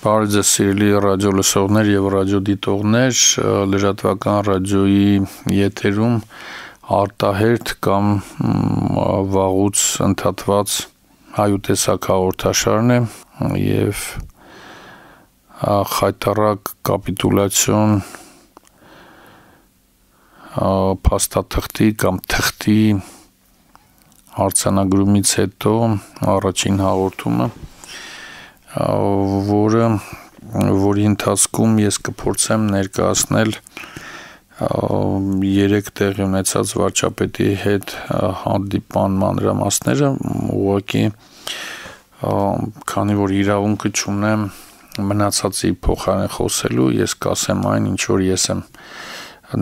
Բարև ձեզ սիրելի ռադիո լսողներ եւ ռադիոդիտողներ, լրատվական ռադիոյի եթերում արտահերթ կամ վաղուց ընդհատված հայուտեսակ հաղորդաշարն է եւ խայտառակ կապիտուլյացիոն փաստաթղթի կամ թղթի արձանագրումից հետո առաջին հաղորդումը, որի ընթացքում ես կփորձեմ ներկայացնել 3 տեղի ունեցած վարչապետի հետ հանդիպման մանրամասները, ուղղակի քանի որ իրավունքը չունեմ մնացածի փոխարեն խոսելու, ես կասեմ այն, ինչ որ ես եմ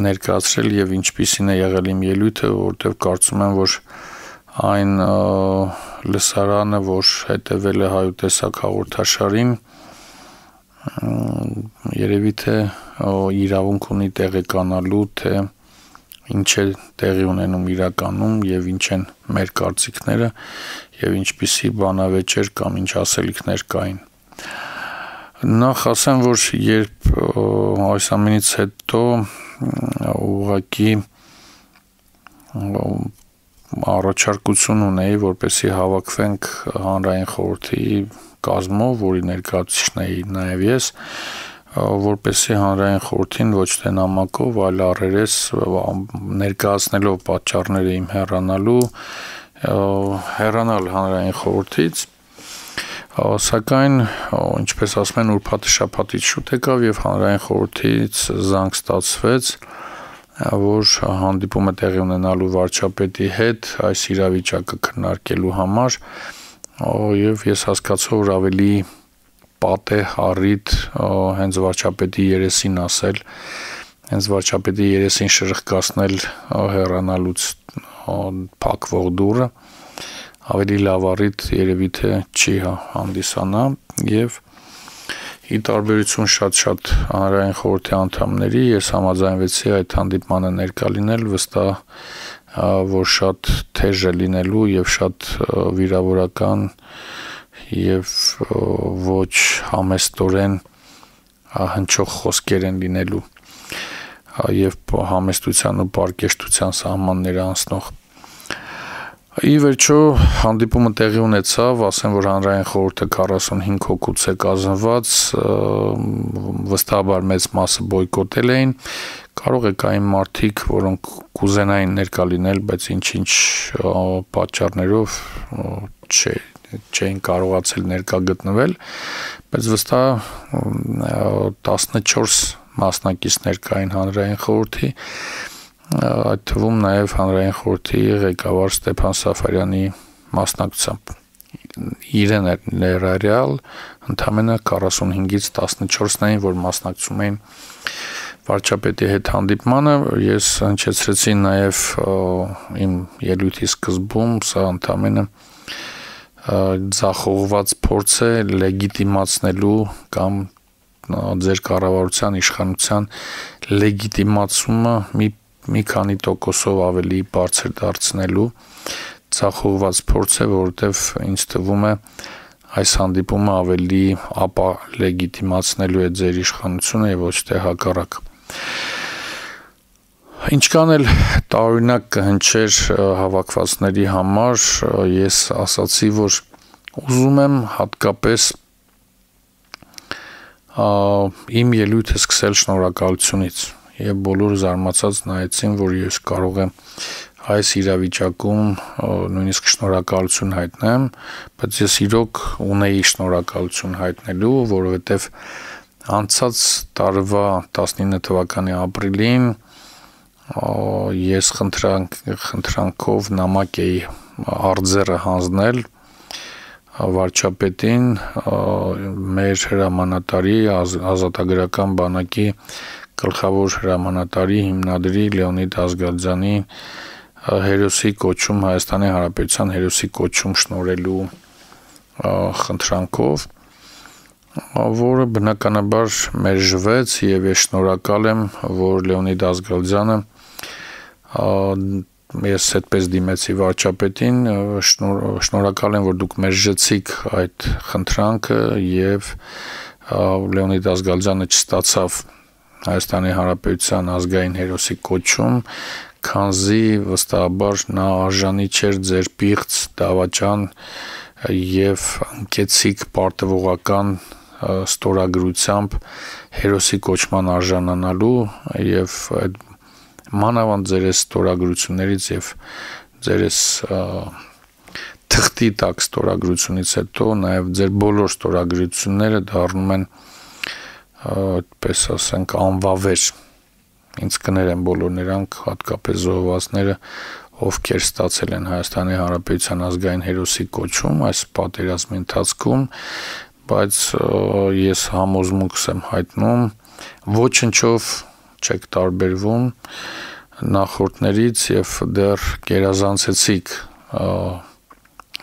ներկայացրել եւ ինչպիսին է եղել իմ ելույթը, որտեղ կարծում եմ, որ այն լսարանը, որ հետևել է հայուտեսակ հաղորդաշարին, երևի թե իրավունք ունի տեղեկանալու, թե ինչ է տեղի ունենում իրականում եւ ինչ են մեր կարծիքները եւ ինչպիսի բանավեճեր կամ ինչ ասելիքներ կային։ Նախ ասեմ, որ երբ այս ամենից հետո ուղղակի առաջարկություն ունեի, որպեսզի հավաքվենք հանրային խորհրդի կազմով, որի ներկայացուցիչն էի նաև ես, որպեսզի հանրային խորհրդին ոչ թե նամակով, այլ առերես ներկայացնելով պատճառները իմ հեռանալ հանրային խորհրդից, սակայն, ինչպես ասում են, ուրբաթը շաբաթից շուտ եկավ եւ հանրային խորհրդից զանգ ստացվեց, որ հանդիպումը տեղի ունենալու վարչապետի հետ այս իրավիճակը քննարկելու համար եւ ես հասկացա, որ ավելի պատ է առիթ հենց վարչապետի երեսին ասել, հենց վարչապետի երեսին շրխկացնել հեռանալուց փակվող դուռը, ավելի լավ առիթ երևի թե չի հանդիսանա եւ ի տարբերություն շատ հանրային խորհրդի անդամների ես համաձայնվեցի այդ հանդիպմանը ներկա լինել, վստահ որ շատ թեժ է լինելու եւ շատ վիրավորական եւ ոչ համեստորեն հնչող խոսքեր են լինելու եւ համեստության ու պարկեշտության սահմանները անցնող։ Ի վերջո հանդիպումը տեղի ունեցավ, ասեմ, որ հանրային խորհուրդը 45 հոգուց է կազմված, վստահաբար մեծ մասը բոյկոտել էին, կարող է կային մարդիկ, որոնք կուզենային ներկա լինել, բայց ինչ-ինչ պատճառներով չէին կարողացել ներկա գտնվել, բայց վստահ 14 մասնակիցներ կային հանրային խորհրդի, այդ թվում նաև հանրային խորհրդի ղեկավար Ստեփան Սաֆարյանի մասնակցությամբ իրեն ներառյալ ընդամենը 45-ից 14-ն էին, որ մասնակցում էին վարչապետի հետ հանդիպմանը, ես հնչեցրեցի նաև իմ ելույթի սկզբում, սա ընդամենը ձախողված փորձ է լեգիտիմացնելու կամ ձեր կառավարության իշխանության լեգիտիմացումը մի քանի տոկոսով ավելի բարձր դարձնելու ցախողված փորձ է, որովհետև ինձ թվում է այս հանդիպումը ավելի ապա լեգիտիմացնելու է ձեր իշխանությունը եւ ոչ թե հակառակ։ Ինչքան էլ տարօրինակ կհնչեր հավաքվածների համար, ես ասացի, որ ուզում եմ հատկապես իմ ելույթը սկսել շնորհակալությունից եւ բոլորը զարմացած նայեցին, որ ես կարող եմ այս իրավիճակում նույնիսկ շնորհակալություն հայտնեմ, բայց ես իրոք ունեի շնորհակալություն հայտնելու, որովհետեւ անցած տարվա 19 թվականի ապրիլին ես խնդրանքով նամակ էի արձերը հանձնել վարչապետին մեր հրամանատարի ազատագրական բանակի գլխավոր հրամանատարի հիմնադրի Լեոնիդ Ազգալյանի հերոսի կոչում Հայաստանի Հանրապետության հերոսի կոչում շնորհելու խնդրանքով, որը բնականաբար մերժվեց եւ ես շնորհակալ եմ, որ Լեոնիդ Ազգալյանը ես այդպես դիմեցի վարչապետին, շնորհակալ եմ, որ դուք մերժեցիք այդ խնդրանքը եւ Լեոնիդ Ազգալյանը չստացավ Հայաստանի Հանրապետության ազգային հերոսի կոչում, քանզի վստահաբար նա արժանի չէր ձեր պիղծ, դավաճան եւ անկեցիկ պարտվողական ստորագրությամբ հերոսի կոչման արժանանալու եւ այդ մանավանդ ձեր ստորագրություններից եւ ձեր թղթի տակ ստորագրությունից հետո նաեւ ձեր բոլոր ստորագրությունները դառնում են այդպես ասենք անվավեր ինձ կներեն բոլոր նրանք հատկապես զոհվածները ովքեր ստացել են Հայաստանի Հանրապետության ազգային հերոսի կոչում այս պատերազմի ընթացքում բայց ես համոզմունքս եմ հայտնում ոչնչով չեք տարբերվում նախորդներից եւ դեռ գերազանցեցիք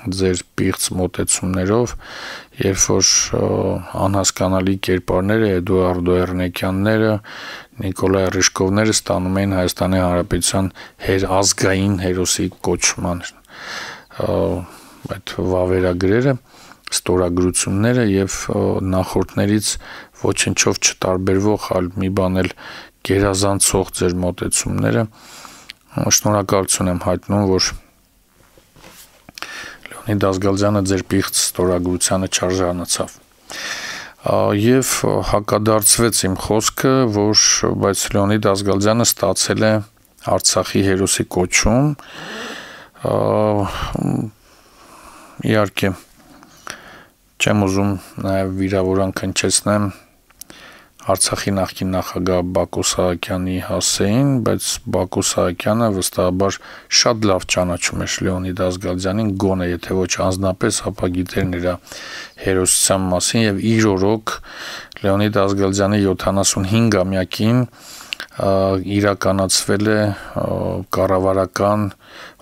ձեր պիղծ մոտեցումներով, երբ որ անհասկանալի կերպարները Էդուարդո Էռնեկյանները, Նիկոլայ Ռիժկովները ստանում էին Հայաստանի Հանրապետության ազգային հերոսի կոչման այդ վավերագրերը, ստորագրությունները եւ նախորդներից ոչնչով չտարբերվող այլ մի բան էլ գերազանցող ձեր մոտեցումները շնորհակալություն եմ հայտնում, որ Լեոնիդ Ազգալյանը ձեր պիղծ ստորագրությանը չարժանացավ։ Եվ հակադարձվեց իմ խոսքը, որ բայց Լեոնիդ Ազգալյանը ստացել է Արցախի հերոսի կոչում, իհարկե չեմ ուզում նաև վիրավորանք հնչեցնեմ Արցախի նախկին նախագահ Բակո Սահակյանի հասցեին, բայց Բակո Սահակյանը վստահաբար շատ լավ ճանաչում էր Լեոնիդ Ազգալյանին, գոնե եթե ոչ անձնապես, ապա գիտեր նրա հերոսության մասին եւ իր օրոք Լեոնիդ Ազգալյանի 75-ամյակին իրականացվել է կառավարական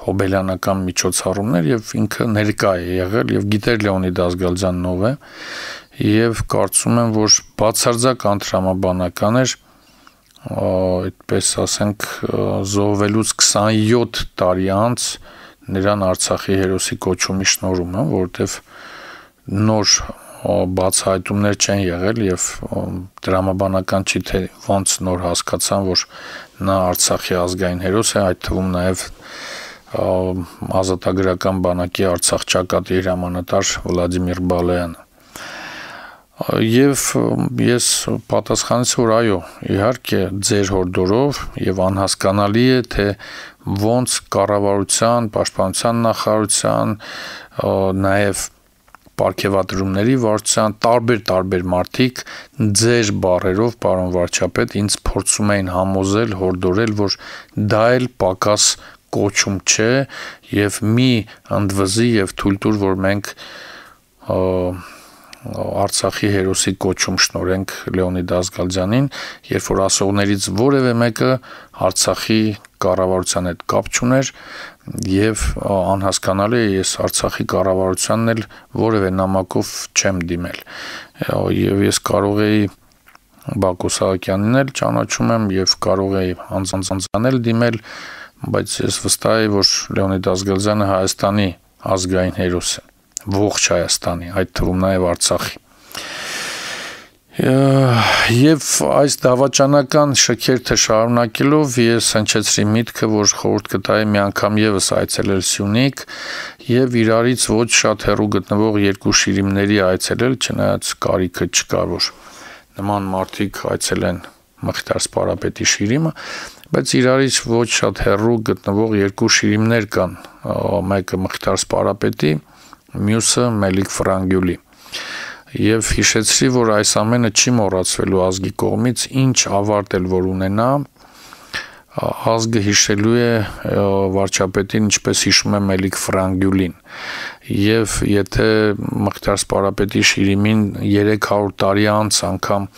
հոբելյանական միջոցառումներ եւ ինքը ներկա է եղել եւ գիտեր Լեոնիդ Ազգալյանն ով է եւ կարծում եմ, որ բացարձակ անտրամաբանական էր այդպես ասենք զոհվելուց 27 տարի անց նրան Արցախի հերոսի կոչումի շնորհումը, որովհետեւ նոր բացահայտումներ չեն եղել եւ դրամաբանական չի թե ոնց նոր հասկացան, որ նա Արցախի ազգային հերոս է, այդ թվում նաեւ ազատագրական բանակի Արցախ ճակատի հրամանատար Վլադիմիր Բալայանը Եվ ես պատասխանեցի, որ այո, իհարկե ձեր հորդորով եւ անհասկանալի է, թե ոնց կառավարության, պաշտպանության նախարարության, նաեւ պարգևատրումների վարչության տարբեր մարդիկ ձեր բառերով, պարոն վարչապետ, ինձ փորձում էին համոզել, հորդորել, որ դա էլ պակաս կոչում չէ եւ մի ընդվզի եւ թույլ տուր, որ մենք Արցախի հերոսի կոչում շնորհենք Լեոնիդ Ազգալյանին, երբ որ ասողներից որևէ մեկը Արցախի կառավարության հետ կապ չուներ եւ անհասկանալի է ես Արցախի կառավարությանն էլ որևէ նամակով չեմ դիմել եւ ես կարող էի Բակո Սահակյանին էլ ճանաչում եմ եւ կարող էի անձանցանել դիմել, բայց ես վստահ եմ, որ Լեոնիդ Ազգալյանը Հայաստանի ազգային հերոս է ողջ Հայաստանի, այդ թվում նաև Արցախի։ Եվ այս դավաճանական շքերթը շարունակելով ես հնչեցրի միտքը, որ խորհուրդ կտայի մի անգամ եւս այցելել Սյունիք եւ իրարից ոչ շատ հեռու գտնվող երկու շիրիմների այցելել, չնայած կարիքը չկար, որ նման մարդիկ այցելեն Մխիթար Սպարապետի շիրիմը, բայց իրարից ոչ շատ հեռու գտնվող երկու շիրիմներ կան, մեկը Մխիթար Սպարապետի մյուսը Մելիք Ֆրանգյուլի եւ հիշեցրի, որ այս ամենը չի մոռացվելու ազգի կողմից, ինչ ավարտ էլ որ ունենա, ազգը հիշելու է վարչապետին, ինչպես հիշում է Մելիք Ֆրանգյուլին եւ եթե Մխիթար Սպարապետի շիրիմին 300 տարի անց անգամ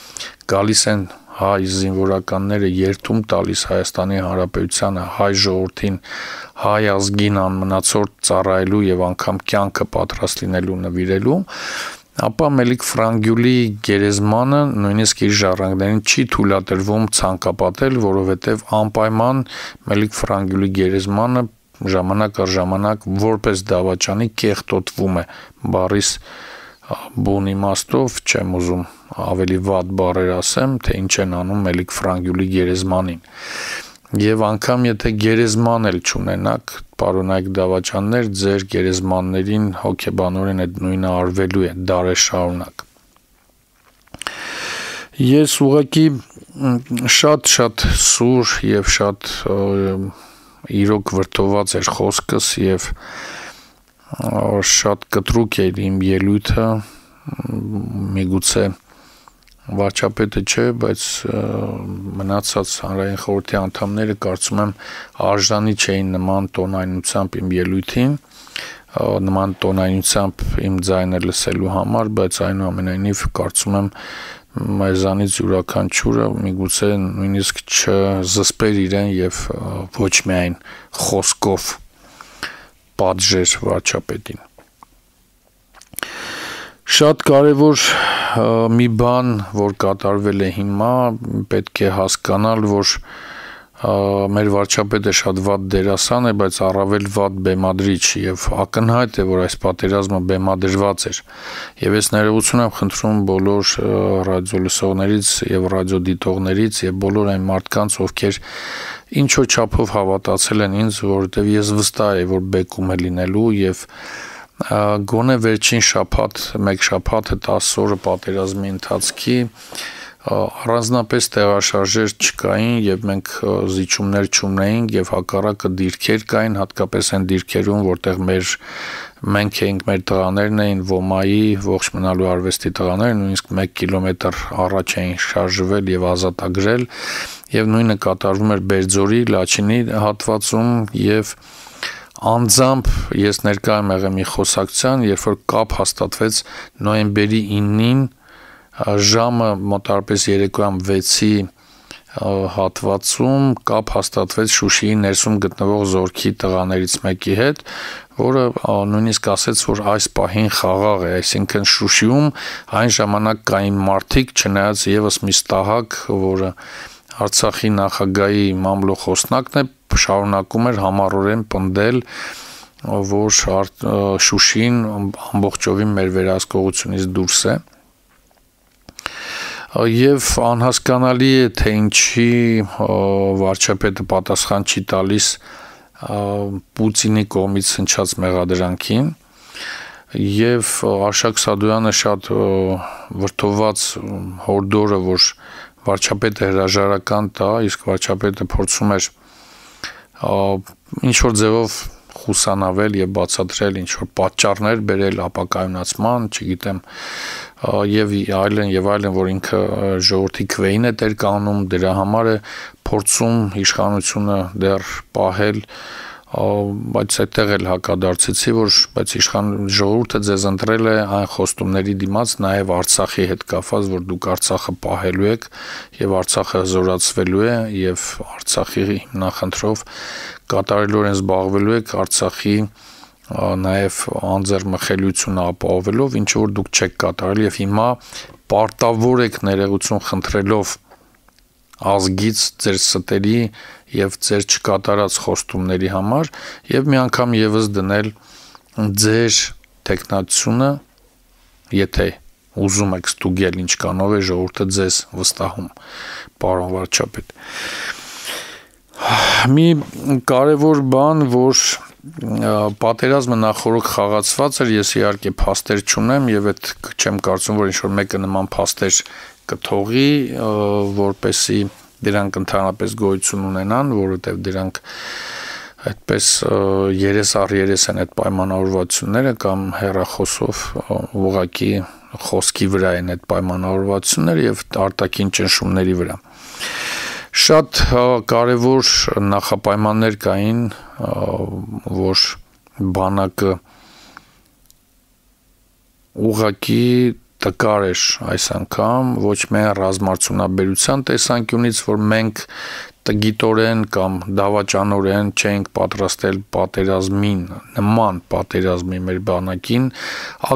գալիս են հայ զինվորականները երթում տալիս Հայաստանի Հանրապետությանը, հայ ժողովրդին, հայ ազգին անմնացորդ ծառայելու եւ անգամ կյանքը պատրաստ լինելու նվիրելու, ապա Մելիք Ֆրանգյուլի գերեզմանը նույնիսկ իր ժառանգներին չի թույլատրվում ցանկապատել, որովհետեւ անպայման Մելիք Ֆրանգյուլի գերեզմանը ժամանակ առ ժամանակ որպես դավաճանի կեղտոտվում է բառիս բուն իմաստով չեմ ուզում ավելի վատ բառեր ասեմ, թե ինչ են անում Մելիք Ֆրանգյուլի գերեզմանին։ Եվ անգամ եթե գերեզման էլ չունենաք, պարոնայք դավաճաններ, ձեր գերեզմաններին հոգեբանորեն այդ նույնը արվելու է դարաշարունակ։ Ես ուղղակի շատ սուր եւ շատ իրոք վրդոված էր խոսքս եւ շատ կտրուկ էր իմ ելույթը, միգուցե վարչապետը չէ, բայց մնացած հանրային խորհրդի անդամները կարծում եմ արժանի չէին նման տոնայնությամբ իմ ելույթին, նման տոնայնությամբ իմ ձայնը լսելու համար, բայց այնուամենայնիվ կարծում եմ մեզանից յուրաքանչյուրը միգուցե նույնիսկ չզսպեր իրեն եւ ոչ միայն խոսքով պատժեր վարչապետին։ Շատ կարևոր մի բան, որ կատարվել է հիմա, պետք է հասկանալ, որ մեր վարչապետը շատ վատ դերասան է, բայց առավել վատ բեմադրիչ եւ ակնհայտ է, որ այս պատերազմը բեմադրված էր։ Եվ ես ներողություն եմ խնդրում բոլոր ռադիոլսողներից եւ ռադիոդիտողներից եւ բոլոր այն մարդկանց, ովքեր ինչ-որ չափով հավատացել են ինձ, որովհետեւ ես վստահ եմ, որ բեկում է լինելու եւ գոնե վերջին շաբաթ, մեկ շաբաթը 10 օրը պատերազմի ընթացքի առանձնապես տեղաշարժեր չկային եւ մենք զիջումներ չունեինք եւ հակառակը դիրքեր կային, հատկապես այն դիրքերում, որտեղ մենք էինք, մեր տղաներն էին ՈՄԱ-ի ողջ մնալու արվեստի տղաները, նույնիսկ 1 կիլոմետր առաջ էին շարժվել եւ ազատագրել եւ նույնը կատարվում էր Բերձորի, Լաչինի հատվածում եւ անձամբ ես ներկա եմ եղել մի խոսակցության, երբ որ կապ հաստատվեց նոյեմբերի 9-ին ժամը մոտարպես երեկոյան 6-ի հատվածում կապ հաստատվեց Շուշիի ներսում գտնվող զորքի տղաներից մեկի հետ, որը նույնիսկ ասեց, որ այս պահին խաղաղ է, այսինքն Շուշիում այն ժամանակ կային մարդիկ, չնայած եւս մի ստահակ, որը Արցախի նախագահի մամլո խոսնակն է, շարունակում էր համառորեն պնդել, որ Շուշին ամբողջովին մեր վերահսկողությունից դուրս է։ Եվ անհասկանալի է, թե ինչի վարչապետը պատասխան չի տալիս Պուտինի կողմից հնչած մեղադրանքին, եւ Արշակ Սադոյանը շատ վրդոված հորդորը, որ վարչապետը հրաժարական տա, իսկ վարչապետը փորձում էր ինչ-որ ձևով խուսանավել եւ բացատրել ինչ-որ պատճառներ բերել ապակայունացման, չգիտեմ, եւ այլն, որ ինքը ժողովրդի քվեին է տեր կանում, դրա համար է փորձում իշխանությունը դեռ պահել, բայց այդտեղ էլ հակադարձեցի, որ բայց ժողովուրդը ձեզ ընտրել է այն խոստումների դիմաց, նաեւ Արցախի հետ կապված, որ դուք Արցախը պահելու եք եւ Արցախը հզորացվելու է եւ Արցախի հիմնախնդրով կատարելորեն զբաղվելու եք Արցախի նաեւ անձեռմխելիությունը ապահովելով, ինչ որ դուք չեք կատարել եւ հիմա պարտավոր եք ներողություն խնդրելով ազգից ձեր ստերի եւ ձեր չկատարած խոստումների համար եւ մի անգամ եւս դնել ձեր տեխնացությունը, եթե ուզում եք ստուգել ինչ կանով է ժողովուրդը ձեզ վստահում, պարոն վարչապետ։ Մի կարևոր բան, որ պատերազմը նախորդ խաղացված էր, ես իհարկե փաստեր չունեմ եւ այդ չեմ կարծում, որ ինչ-որ մեկը նման փաստեր կթողի, որպեսի դրանք ընդհանրապես գոյություն ունենան, որովհետեւ դրանք այդպես երես առ երես են այդ պայմանավորվածությունները կամ հեռախոսով ուղղակի խոսքի վրա են այդ պայմանավորվածությունները եւ արտաքին ճնշումների վրա։ Շատ կարևոր նախապայմաններ կային, որ բանակը ուղղակի տկար էր այս անգամ, ոչ միայն ռազմարդյունաբերության տեսանկյունից, որ մենք տգիտորեն կամ դավաճանորեն չենք պատրաստել պատերազմին, նման պատերազմի մեր բանակին,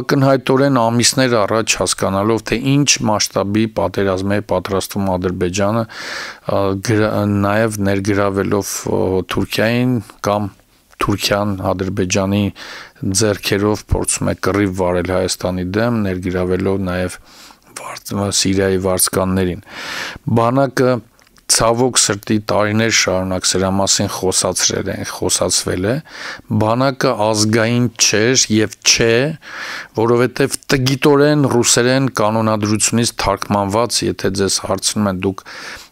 ակնհայտորեն ամիսներ առաջ հասկանալով, թե ինչ մասշտաբի պատերազմ է պատրաստվում Ադրբեջանը, նաև ներգրավելով Թուրքիային կամ Թուրքիան Ադրբեջանի ձեռքերով փորձում է կռիվ վարել Հայաստանի դեմ, ներգրավելով նաև Սիրիայի վարձկաններին։ Բանակը ցավոք սրտի տարիներ շարունակ սրա մասին խոսացվել է, բանակը ազգային չէր եւ չէ, որովհետեւ տգիտորեն ռուսերեն կանոնադրությունից թարգմանված, եթե ձեզ հարցնում են դուք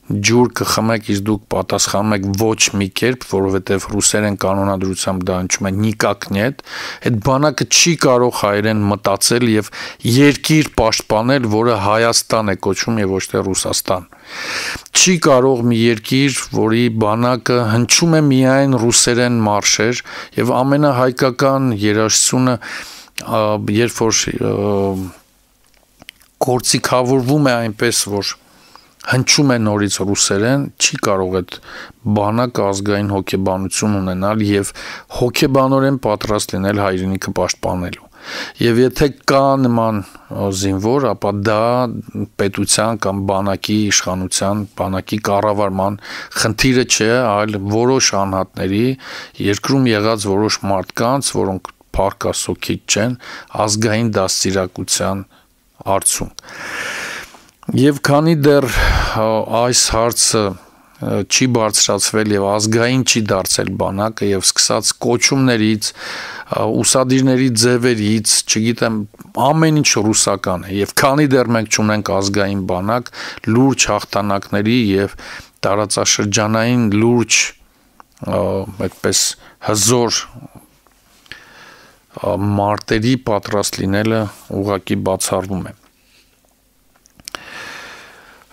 ջուր կխմեք, իսկ դուք պատասխանում եք ոչ մի կերպ, որովհետև ռուսերեն կանոնադրությամբ դա հնչում է նիկակ նետ, այդ բանակը չի կարող հայերեն մտածել եւ երկիր պաշտպանել, որը Հայաստան է կոչվում եւ ոչ թե Ռուսաստան։ Չի կարող մի երկիր, որի բանակը հնչում է միայն ռուսերեն մարշեր եւ ամենահայկական երաժշտությունը, երբ որ գործիքավորվում է այնպես, որ հնչում է նորից ռուսերեն, չի կարող այդ բանակը ազգային հոգեբանություն ունենալ եւ հոգեբանորեն պատրաստ լինել հայրենիքը պաշտպանելու։ Եվ եթե կա նման զինվոր, ապա դա պետության կամ բանակի իշխանության, բանակի կառավարման խնդիրը չէ, այլ որոշ անհատների, երկրում եղած որոշ մարդկանց, որոնք փառք Աստծո քիչ չեն, ազգային դաստիարակության արդյունք։ Եվ քանի դեռ այս հարցը չի բարձրացվել եւ ազգային չի դարձել բանակը եւ սկսած կոչումներից, ուսադիրների ձևերից, չգիտեմ, ամեն ինչ ռուսական է եւ քանի դեռ մենք չունենք ազգային բանակ, լուրջ հաղթանակների եւ տարածաշրջանային լուրջ այդպես հզոր մարտերի պատրաստ լինելը ուղղակի բացառվում է։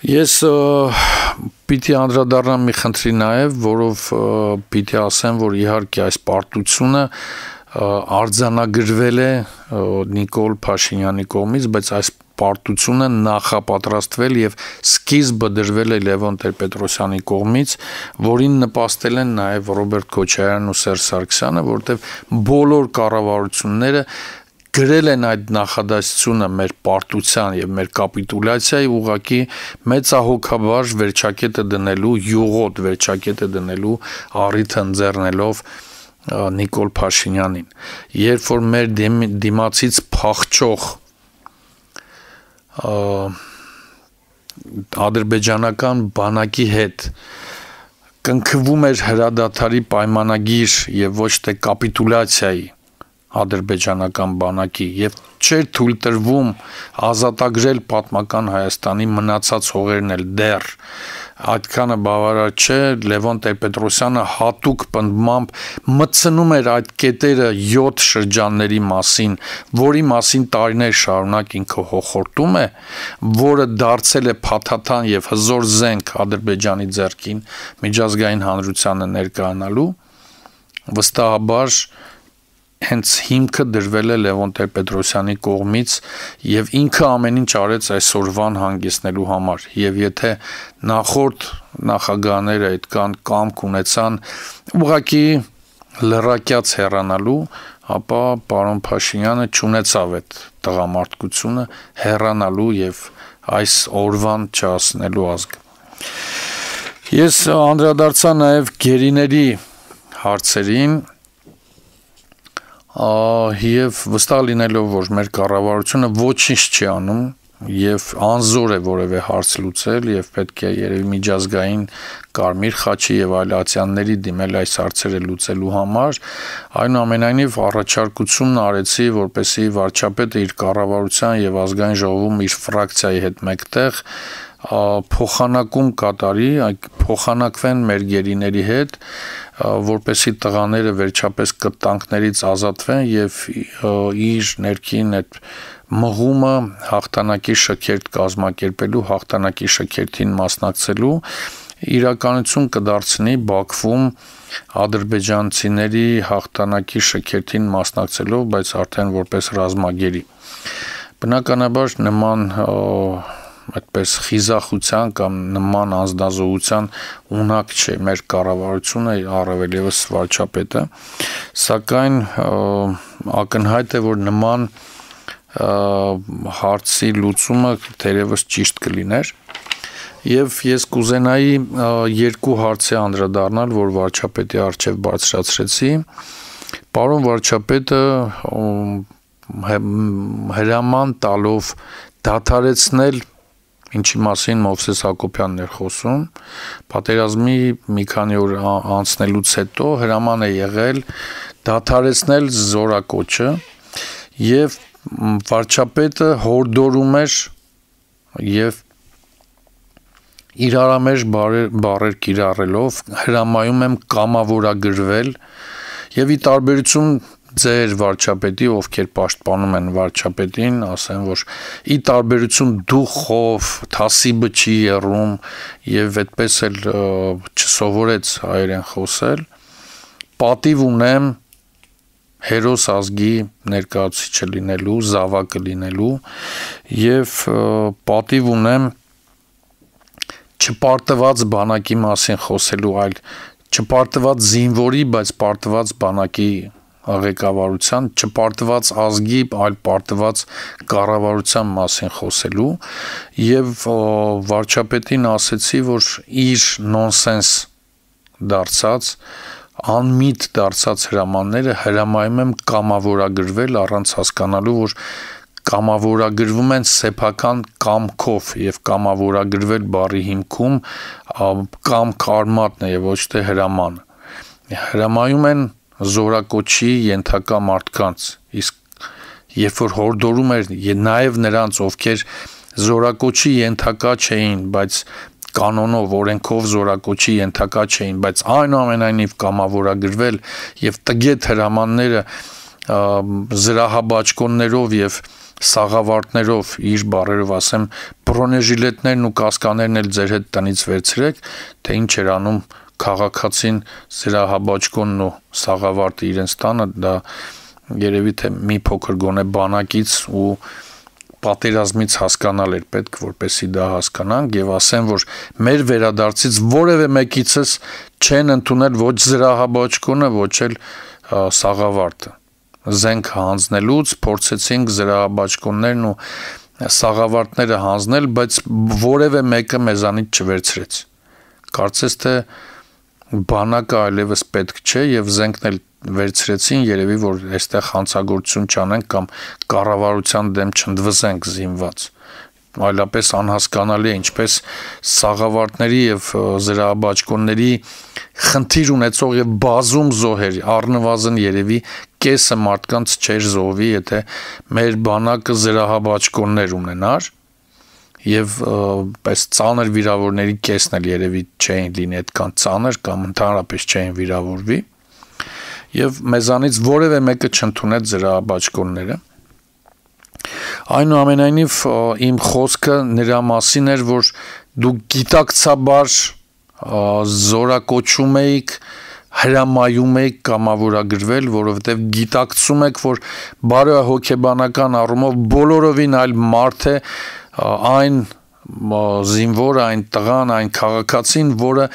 Ես պիտի անդրադառնամ մի խնդրի նաև, որով պիտի ասեմ, որ իհարկե այս պարտությունը արձանագրվել է Նիկոլ Փաշինյանի կողմից, բայց այս պարտությունը նախապատրաստվել եւ սկիզբը դրվել է Լևոն Տեր-Պետրոսյանի կողմից, որին նպաստել են նաև Ռոբերտ Քոչարյանն ու Սերժ Սարգսյանը, որովհետեւ բոլոր կառավարությունները գրել են այդ նախադասությունը մեր պարտության եւ մեր կապիտուլյացիայի ուղղակի մեծահոգաբար վերջակետը դնելու, յուղոտ վերջակետը դնելու առիթը ընձեռնելով Նիկոլ Փաշինյանին։ Երբ որ մեր դիմացից փախչող ադրբեջանական բանակի հետ կնքվում էր հրադադարի պայմանագիր եւ ոչ թե կապիտուլյացիայի ադրբեջանական բանակի եւ չէր թույլ տրվում ազատագրել պատմական Հայաստանի մնացած հողերն էլ դեռ այդքանը բավարար չէ Լևոն Տեր-Պետրոսյանը հատուկ պնդմամբ մտցնում էր այդ կետերը 7 շրջանների մասին, որի մասին տարիներ շարունակ ինքը հոխորտում է, որը դարձել է փաթաթան եւ հզոր զենք Ադրբեջանի ձեռքին միջազգային հանրությանը ներկայանալու, վստահաբար հենց հիմքը դրվել է Լևոն Տեր-Պետրոսյանի կողմից եւ ինքը ամեն ինչ արեց այսօրվան հանգեցնելու համար եւ եթե նախորդ նախագահները այդքան կամք ունեցան ուղղակի լրակյաց հեռանալու, ապա պարոն Փաշինյանը չունեցավ այդ տղամարդկությունը հեռանալու եւ այս օրվան չհասնելու ազգ։ Ես անդրադարձա նաեւ գերիների հարցերին եւ վստահ լինելով, որ մեր կառավարությունը ոչինչ չի անում եւ անզոր է որևէ հարց լուծել եւ պետք է երևի միջազգային Կարմիր խաչի եւ այլ ացիանների դիմել այս հարցերը լուծելու համար, այնուամենայնիվ առաջարկությունն արեցի, որպեսզի վարչապետը իր կառավարության եւ ազգային ժողովում իր ֆրակցիայի հետ մեկտեղ փոխանակում կատարի, փոխանակվեն մեր գերիների հետ, որպեսզի տղաները վերջապես կտանքներից ազատվեն եւ իր ներքին այդ մղումը հաղթանակի շքերթ կազմակերպելու, հաղթանակի շքերթին մասնակցելու իրականություն կդարձնի Բաքվում ադրբեջանցիների հաղթանակի շքերթին մասնակցելով, բայց արդեն որպես ռազմագերի։ Բնականաբար նման այդպես խիզախության կամ նման անձնազոհության ունակ չէ մեր կառավարությունը, առավել եւս վարչապետը, սակայն ակնհայտ է, որ նման հարցի լուծումը թերևս ճիշտ կլիներ եւ ես կուզենայի երկու հարցի անդրադառնալ, որ վարչապետի առջեւ բարձրացրեցի Պարոն վարչապետը հրաման տալով դադարեցնել, ինչի մասին Մովսես Հակոբյանն էր խոսում, պատերազմի մի քանի օր անցնելուց հետո հրաման է եղել դադարեցնել զորակոչը եւ վարչապետը հորդորում էր եւ իրարամերժ բառեր կիրառելով հրամայում եմ կամավորագրվել եւ ի տարբերություն ձեր վարչապետի, ովքեր պաշտպանում են վարչապետին, ասեն, որ ի տարբերություն դուխով, թասիբը չի եռում եւ այդպես էլ չսովորեց հայերեն խոսել, պատիվ ունեմ հերոս ազգի ներկայացուցիչը լինելու, զավակը լինելու եւ պատիվ ունեմ չպարտված բանակի մասին խոսելու, այլ չպարտված զինվորի, բայց պարտված բանակի ղեկավարության, չպարտված ազգի, այլ պարտված կառավարության մասին խոսելու եւ վարչապետին ասեցի, որ իր նոնսենս դարձած, անմիտ դարձած հրամանները հրամայում եմ կամավորագրվել առանց հասկանալու, որ կամավորագրվում են սեփական կամքով եւ կամավորագրվել բառի հիմքում կամք արմատն է եւ ոչ թե հրամանը։ Հրամայում են զորակոչի ենթակա մարդկանց, իսկ երբ որ հորդորում էր նաեւ նրանց, ովքեր զորակոչի ենթակա չէին, բայց կանոնով, օրենքով զորակոչի ենթակա չէին, բայց այնուամենայնիվ կամավորագրվել եւ տգետ հրամանները զրահաբաճկոններով եւ սաղավարտներով իր բարերով ասեմ բրոնեժիլետներն ու կասկաներն էլ ձեր հետ տնից վերցրեք, թե ինչ էր անում քաղաքացին զրահաբաճկոնն ու սաղավարտը իրենց տանը, դա երևի թե մի փոքր գոնե բանակից ու պատերազմից հասկանալ էր պետք, որպեսզի դա հասկանանք եւ ասեմ, որ մեր վերադարձից որևէ մեկիցս չեն ընդունել ոչ զրահաբաճկոնը, ոչ էլ սաղավարտը։ Զենք հանձնելուց փորձեցինք զրահաբաճկոններն ու սաղավարտները հանձնել, բայց որևէ մեկը մեզանից չվերցրեց։ Կարծես թե բանակը այլևս պետք չէ եւ զենքն էլ վերցրեցին, երևի որ այստեղ հանցագործություն չանենք կամ կառավարության դեմ չընդվզենք զինված։ Այլապես անհասկանալի է ինչպես սաղավարտների եւ զրահաբաճկոնների խնդիր ունեցող եւ բազում զոհեր, առնվազն երևի կեսը մարդկանց չէր զոհվի, եթե մեր բանակը զրահաբաճկոններ ունենար եւ պես ծանր վիրավորների կեսն էլ երևի չէին լինի այդքան ծանր կամ ընդհանրապես չէին վիրավորվի եւ մեզանից որևէ մեկը չընդունեց զրահաբաճկոնները։ Այնուամենայնիվ իմ խոսքը նրա մասին էր, որ դուք գիտակցաբար զորակոչում եք, հրամայում եք կամավորագրվել, որովհետև գիտակցում եք, որ բարոյահոգեբանական առումով բոլորովին այլ մարդ է այն զինվորը, այն տղան, այն քաղաքացին, որը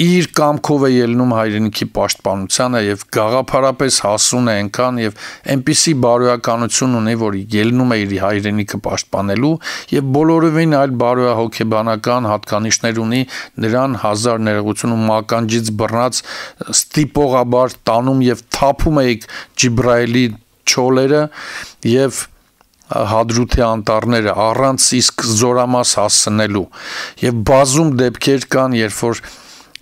իր կամքով է ելնում հայրենիքի պաշտպանությանը եւ գաղափարապես հասուն է այնքան եւ այնպիսի բարոյականություն ունի, որ ելնում է իր հայրենիքը պաշտպանելու եւ բոլորովին այլ բարոյահոգեբանական հատկանիշներ ունի, նրան հազար ներողություն ու մականջից բռնած ստիպողաբար տանում եւ թափում է Ջիբրայելի չոլերը եւ հադրութի անտառները առանց իսկ զորամաս հասցնելու եւ բազում դեպքեր կան, երբ որ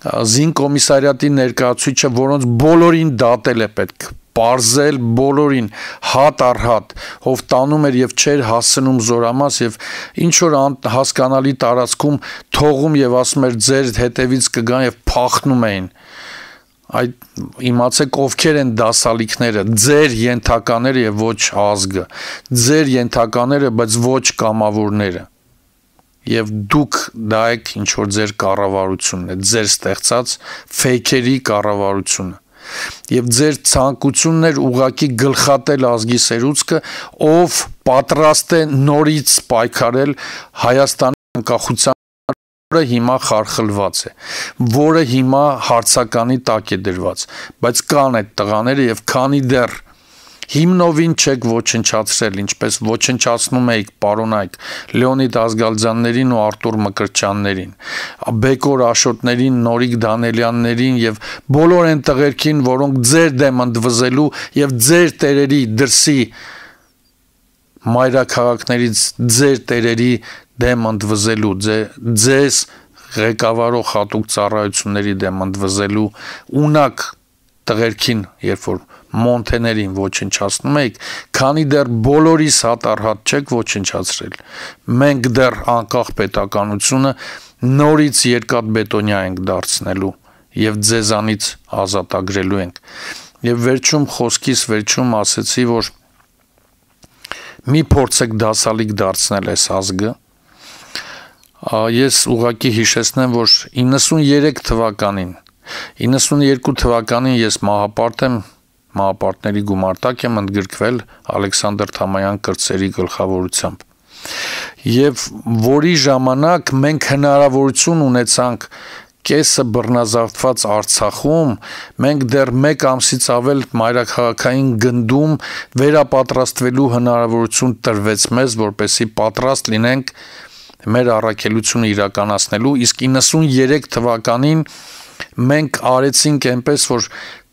զինկոմիսարիատի ներկայացուցիչը, որոնց բոլորին դատել է պետք, պարզել բոլորին հատ առ հատ, ով տանում էր եւ չէր հասցնում զորամաս եւ ինչ որ հասկանալի տարածքում թողում եւ ասում էր ձեր հետևից կգան եւ փախնում էին։ Այդ իմացեք ովքեր են դասալիքները, ձեր ենթակաները եւ ոչ ազգը, ձեր ենթակաները, բայց ոչ կամավորները։ Եվ դուք դա եք ինչ որ ձեր կառավարությունն է, ձեր ստեղծած ֆեյքերի կառավարությունը։ Եվ ձեր ցանկությունն էր ուղակի գլխատել ազգի սերուցքը, ով պատրաստ է նորից պայքարել Հայաստանի անկախության, որը հիմա խարխլված է, որը հիմա հարցականի տակ է դրված, բայց կան այդ տղաները եւ քանի դեռ հիմնովին չեք ոչնչացրել, ինչպես ոչնչացնում էիք պարոնայք Լեոնիդ Ազգալձյաններին ու Արտուր Մկրտչյաններին, Բեկոր Աշոտներին, Նորիկ Դանելյաններին եւ բոլոր այն տղերքին, որոնք ձեր դեմ ընդվզելու եւ ձեր տերերի դրսի մայրաքաղաքներից ձեր տերերի դեմ ընդվզելու, ձեզ ղեկավարող հատուկ ծառայությունների դեմ ընդվզելու ունակ տղերքին, երբ որ մոնթեներին ոչնչացնում եք, քանի դեռ բոլորիս հատառհատ չեք ոչնչացրել, մենք դեռ անկախ պետականությունը նորից երկաթբետոնյա ենք դարձնելու եւ ձեզանից ազատագրելու ենք։ Եվ վերջում խոսքիս վերջում ասեցի, որ մի փորձեք դասալիկ դարձնել այս ազգը։ Ես ուղղակի հիշեցնեմ, որ 93 թվականին, 92 թվականին ես մահապարտ եմ, մահապարտների գումարտակ եմ ընդգրկվել Ալեքսանդր Թամայան կրտսերի գլխավորությամբ։ Եվ որի ժամանակ մենք հնարավորություն ունեցանք կեսը բռնազավթված Արցախում, մենք դեռ 1 ամսից ավել մայրաքաղաքային գնդում վերապատրաստվելու հնարավորություն տրվեց մեզ, որպեսզի պատրաստ լինենք մեր առաքելությունը իրականացնելու, իսկ 93 թվականին մենք արեցինք այնպես, որ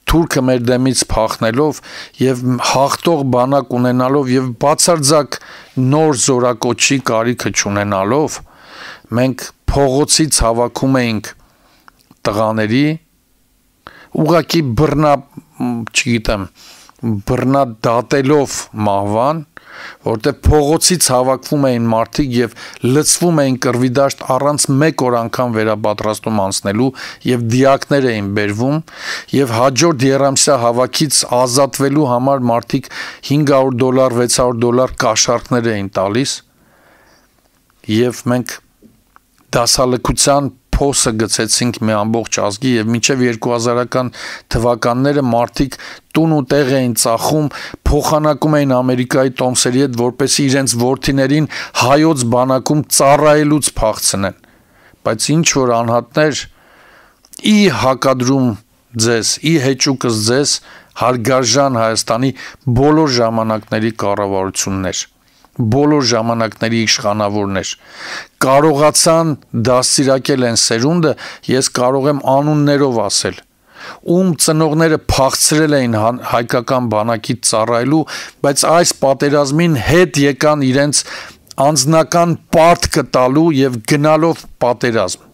թուրքը մեր դեմից փախնելով եւ հաղթող բանակ ունենալով եւ բացարձակ նոր զորակոչի կարիքը չունենալով, մենք փողոցից հավաքում էինք տղաների, ուղղակի բռնադատելով մահվան, որտեղ փողոցից հավաքվում էին մարդիկ եւ լցվում էին կռվի դաշտ առանց 1 օր անգամ վերապատրաստում անցնելու եւ դիակներ էին բերվում եւ հաջորդ երամսյա հավաքից ազատվելու համար մարդիկ $500, $600 կաշառքներ էին տալիս եւ մենք դասալքության փոսը գցեցինք մի ամբողջ ազգի եւ մինչեւ 2000-ական թվականները մարդիկ տուն ու տեղ էին ծախում, փոխանակում էին Ամերիկայի տոմսերի հետ, որպեսզի իրենց որդիներին հայոց բանակում ծառայելուց փախցնեն։ Բայց ինչ որ անհատներ ի հակադրում ձեզ, ի հեճուկս ձեզ հարգարժան Հայաստանի բոլոր ժամանակների կառավարություններ, բոլոր ժամանակների իշխանավորներ կարողացան դաստիարակել են սերունդը, ես կարող եմ անուններով ասել, ում ծնողները փախցրել էին հայկական բանակից ծառայելու, բայց այս պատերազմին հետ եկան իրենց անձնական պարտքը տալու եւ գնալով պատերազմ։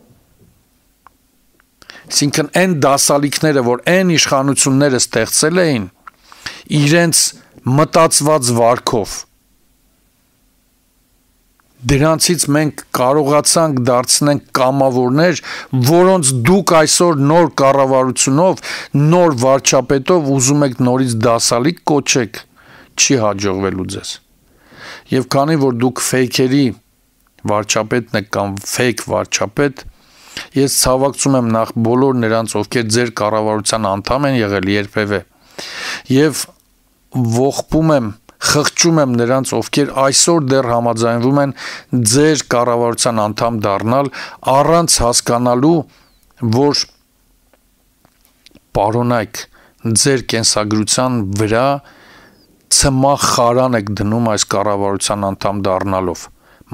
Այսինքն այն դասալիքները, որ այն իշխանությունները ստեղծել էին, իրենց մտածված վարքով, դրանցից մենք կարողացանք դարձնենք կամավորներ, որոնց դուք այսօր նոր կառավարությունով, նոր վարչապետով ուզում եք նորից դասալիկ կոչեք, չի հաջողվելու ձեզ։ Եվ քանի որ դուք ֆեյքերի վարչապետն եք կամ ֆեյք վարչապետ, ես ցավակցում եմ նախ բոլոր նրանց, ովքեր ձեր կառավարության անդամ են եղել երբևէ, եւ ողբում եմ, խղճում եմ նրանց, ովքեր այսօր դեռ համաձայնվում են ձեր կառավարության անդամ դառնալ, առանց հասկանալու, որ պարոնայք ձեր կենսագրության վրա ցմահ խարան եք դնում այս կառավարության անդամ դառնալով,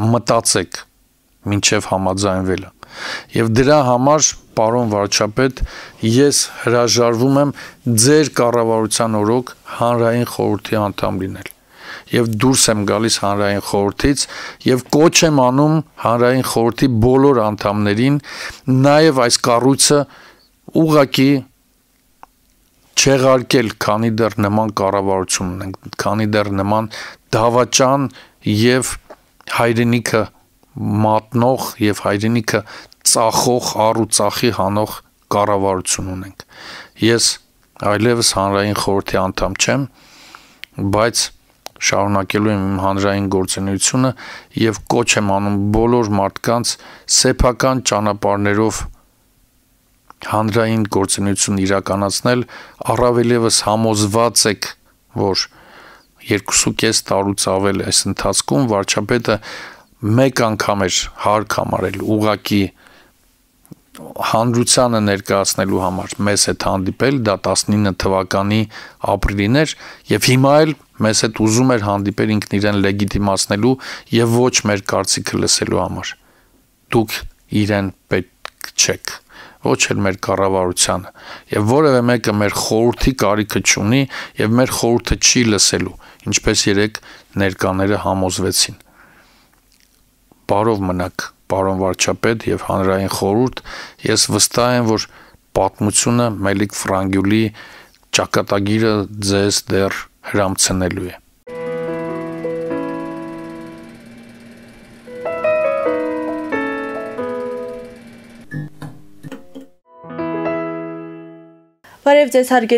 մտածեք մինչև համաձայնվելը։ Եվ դրա համար, պարոն վարչապետ, ես հրաժարվում եմ ձեր կառավարության օրոք հանրային խորհրդի անդամ լինել։ Եվ դուրս եմ գալիս հանրային խորհրդից եւ կոչ եմ անում հանրային խորհրդի բոլոր անդամներին նաեւ այս կառույցը ուղղակի չեղարկել, քանի դեռ նման կառավարություն ունենք, քանի դեռ նման դավաճան եւ հայրենիքը մատնող եւ հայրենիքը ծախող, առու ծախի հանող կառավարություն ունենք։ Ես այլևս հանրային խորհրդի անդամ չեմ, բայց շարունակելու եմ իմ հանրային գործունեությունը եւ կոչ եմ անում բոլոր մարդկանց սեփական ճանապարհներով հանրային գործունեություն իրականացնել, առավել եւս համոզված եք, որ 2.5 տարուց ավել այս ընթացքում վարչապետը մեկ անգամ էր հարկ համարել ուղակի հանրությանը ներկայացնելու համար մեզ հետ հանդիպել, դա 19 թվականի ապրիլին էր, եւ հիմա էլ մեզ հետ ուզում էր հանդիպել ինքն իրեն լեգիտիմացնելու եւ ոչ մեր կարծիքը լսելու համար։ Դուք իրեն պետք չեք, ոչ էլ մեր կառավարությանը, եւ որևէ մեկը մեր խորհրդի կարիքը չունի եւ մեր խորհուրդը չի լսելու, ինչպես երեք ներկաները համոզվեցին։ Բարով մնաք, պարոն վարչապետ եւ հանրային խորհուրդ, ես վստահ եմ, որ պատմությունը Մելիք Ֆրանգյուլի ճակատագիրը ձեզ դեռ հրամցնելու է։ Բարև ձեզ հարգելի